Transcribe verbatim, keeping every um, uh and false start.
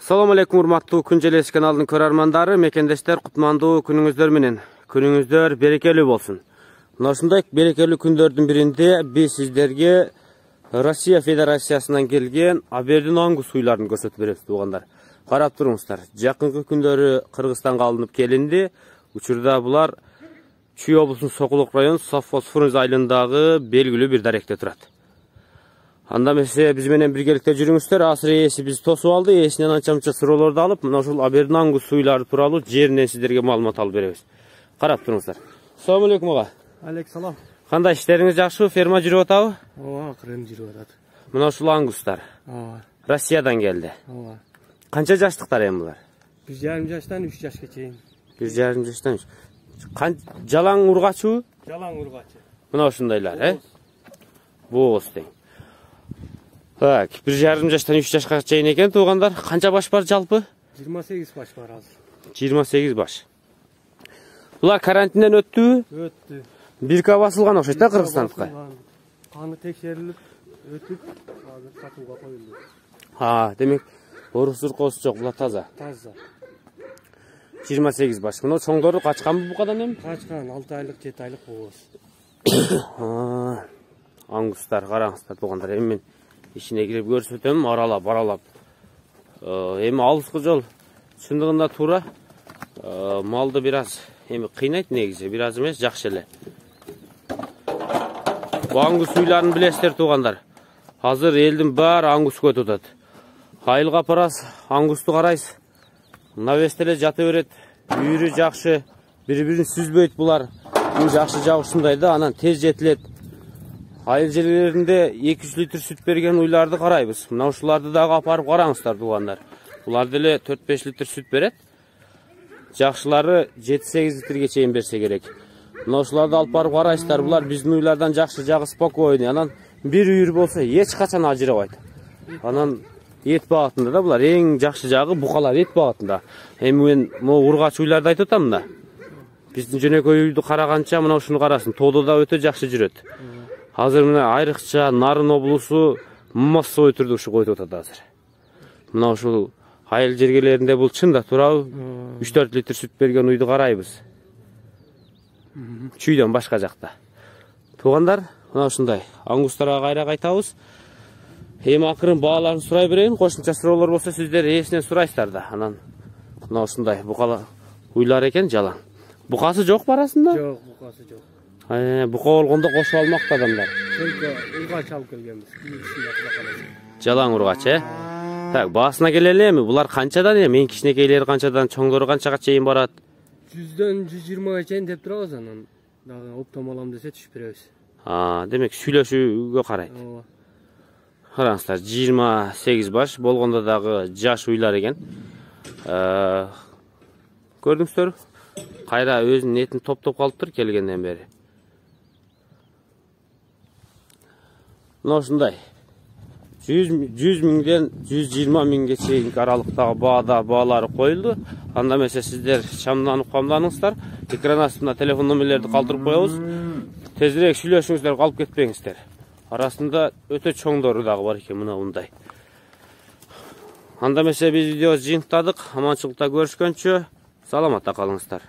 Assalamu alaikum урматтуу Күн Желеси каналынын көрөрмандары, мекендештер, кутмандуу күнүңүздөр менен. Күнүңүздөр берекелүү болсун. Мына ушундай берекелүү күндөрдүн биринде биз сиздерге Россия Федерациясынан келген Абердин аңгус уйларын көрсөтүп беребиз туугандар. Карап туруңуздар. Жакынкы күндөрү Кыргызстанга алынып келинди. Учурда булар Чүй облусунун Сокулук району Совхоз Фрунзе айылындагы белгилүү бир даректе турат. Анда эмесе биз менен биргеликте жүрүңүздөр. Азыр ээси биз тосуп алды. Ээсинен анча-мынча суроолорду алып, мына ушул Абердин аңгус уйлары тууралуу жеринен сиздерге маалымат алып беребиз. Карап туруңуздар. Assalamu alaikum ага. Алейкум салам. Кандай иштериңиз жакшыбы? Ферма жүрүп атабы? Ооба, акырын жүрүп атат. Мына ушул аңгустар. Ооба. Россиядан келди. Ооба. Канча жаштыктар эми булар? бир жарым жаштан үч жашка чейин. бир жарым жаштан үч. Жалаң ургачыбы? Жалаң ургачы. Мына ушундайлар, э? Бооз тең. Так, бир жарым жаштан үч жашка чейин экен туугандар. Канча баш бар жалпы? жыйырма сегиз баш бар азыр. жыйырма сегиз баш. Булар карантинден өттүбү? Өттү. Бирка басылган окшойт да Кыргызстандыкка. Каны текшерилип өтүп, азыр сатууга коюлду. Ha, демек орус-уркоосу жок, булар таза. Таза. жыйырма сегиз баш. Мына чоңдору качканбы букадан эми? Качкан алты айлык, жети айлык бооз. Аңгустар, караңыздар туугандар. Эми мен ишине кирип көрсөтөм, аралап, аралап. Эми алыскы жол чындыгында туура. Малды бир аз эми кыйнайт негизи, бир аз эмес, жакшы эле. Бу аңгус уйларын билесиздер туугандар. Азыр элдин баары аңгус көтүп атат. Айылга барасыз, аңгусту карайсыз. Навес эле жата берет. Үйүрү жакшы, бири-бирин сүзбөйт булар. Бул жакшы жагы ушундай да, анан тез жетилет. Айыл жерлеринде эки жүз литр сүт берген уйларды карайбыз. Мына ушуларды дагы апарып караңыздар туугандар. Булар деле төрт беш литр сүт берет. Жакшылары жети сегиз литрге чейин берсе керек. Мына ушуларды алып барып карайсыздар. Булар биздин уйлардан жакшы жагы спокойный. Анан бир үйүр болсо эч качан ажырабайт. Анан эт багытында да булар эң жакшы жагы букалар эт багытында. Эми мен могу ургач уйларды айтып атам да. Биздин жөнөкөй үйдү караганча мына ушуну карасын. Тоодо да өтө жакшы жүрөт. Азыр мына айрыкча Нарын облусу массовый түрдө ушу койтуп атат азыр. Мына ушул айыл жергелеринде бул чын да туурабы? үч төрт литр сүт берген үйдү карайбыз. Чүйдөн башка жакта. Туугандар, мына ушундай. Аңгустарга кайра кайтабыз. Эми акырын бааларын сурай берейин. Кошумча суроолор болсо сиздер ээсинен сурайсыздар да. Анан мына ушундай букала уйлар экен жалаң. Букасы жок арасында? Жок, букасы жок. Э, бука болгондо кошуп алмакты адамдар. Только ургач алып келгенбиз. Жалаң ургач, э? Так, баасына келели эми. Булар канчадан эми? Мен кичинекейлери канчадан, чоңдору канчага чейин барат? жүздөн жүз жыйырмага чейин деп турабыз, анан дагы оптом алам десе түшүп беребиз. А, демек сүйлөшүүгө карайт. Ооба. Караңыздар, жыйырма сегиз баш болгондо дагы жаш уйлар экен. Көрдүңүздөр? Кайра өзүнүн этин топтоп калыптыр келгенден бери. Мына ушундай. жүз миңден жүз жыйырма миңге чейин аралыктагы баада баалары коюлду. Анда эмесе сиздер шамданып камданыңыздар. Экран астына телефон номерлерди калтырып коебуз. Тезирээк сүйлөшүңүздөр, калып кетпеңиздер. Арасында өтө чоңдору дагы бар экен мына мындай. Анда эмесе биз видеобузду жыйынтыктадык. Аманчылыкта көрүшкөнчө саламатта калыңыздар.